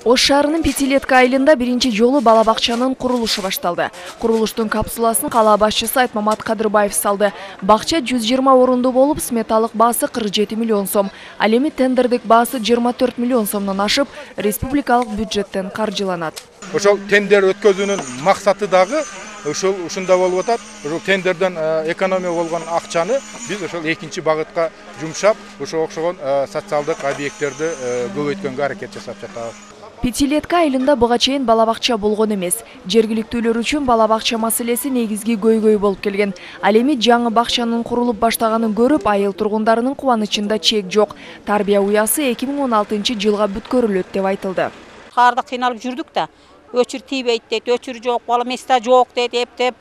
Ош шаарынын Пятилетка айылында биринчи жолу бала бакчанын курулушу башталды. Курулуштун капсуласын кала башчысы Айтмамат Кадырбаев салды. Бакча 120 орундуу болуп, сметалык баасы 47 миллион сом. Ал эми тендердик баасы 24 миллион сомдон ашып, республикалык бюджеттен каржыланат. Ошол тендер өткөзүүнүн максаты дагы ушунда болуп атат. Ошол тендерден экономия болгон акчаны биз ошол экинчи багытка жумшап, ошого окшогон социалдык объекттерди көбөйткөнгө аракет жасап жатабыз. Пятилетка айылында буга чейин бала бакча болгон эмес. Жергиликтүүлөр үчүн бала бакча маселеси негизги көйгөй болуп келген. Ал эми жаңы бакчанын курулуп баштаганын көрүп, айыл тургундарынын кубанычында чек жок. Тарбия уясы 2016-жылга бүткөрүлөт деп айтылды. Карда кыйналып жүрдүк да, өчүр тийбейт дейт, өчүр жок, бала места жок дейт, эптеп.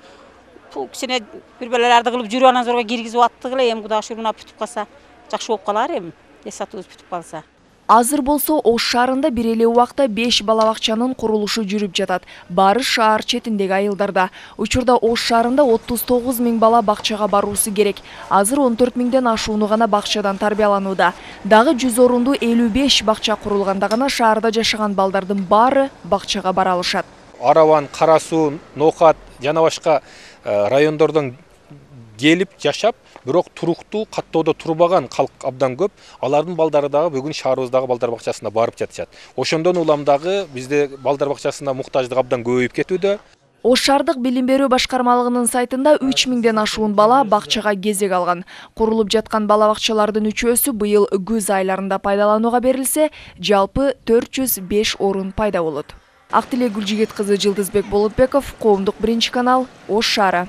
Кичине бир белелерди кылып жүрүп анан зорго киргизип аттык эле, эми Кудай шүгүрүнө бүтүп калса, жакшы болуп калар эми. Эсатыбыз бүтүп калса. Азыр болсо Ош шаарында бир эле убакта 5 бала бакчанын курулушу жүрүп жатат. Баары шаар четиндеги айылдарда. Учурда Ош шаарында 39 000 бала бакчага баруусу керек. Азыр 14 000ден ашууну гана бакчадан тарбияланууда. Дагы 100 орундуу 55 бакча курулганда гана шаарда жашаган балдардын баары бакчага бара алышат. Араван, Кара суу, Ноокат жана башка райондордон келип жашап, бирок туруктуу каттоодо турбаган калк абдан көп. Алардын балдары дагы бүгүн шаарыбыздагы балдар бакчасына барып жатышат. Ошондон улам дагы бизде балдар бакчасына муктаждык абдан көбөйүп кетүүдө. Ош шаардык билим берүү башкармалыгынын сайтында 3000ден ашуун бала бакчага кезек алган. Курулуп жаткан бала бакчалардын үчөөсү быйыл күз айларында пайдаланууга берилсе, жалпы 405 орун пайда болот. Актилек Гүлжигет кызы, Жылдызбек Болотбеков, Коомдук биринчи канал, Ош шаары.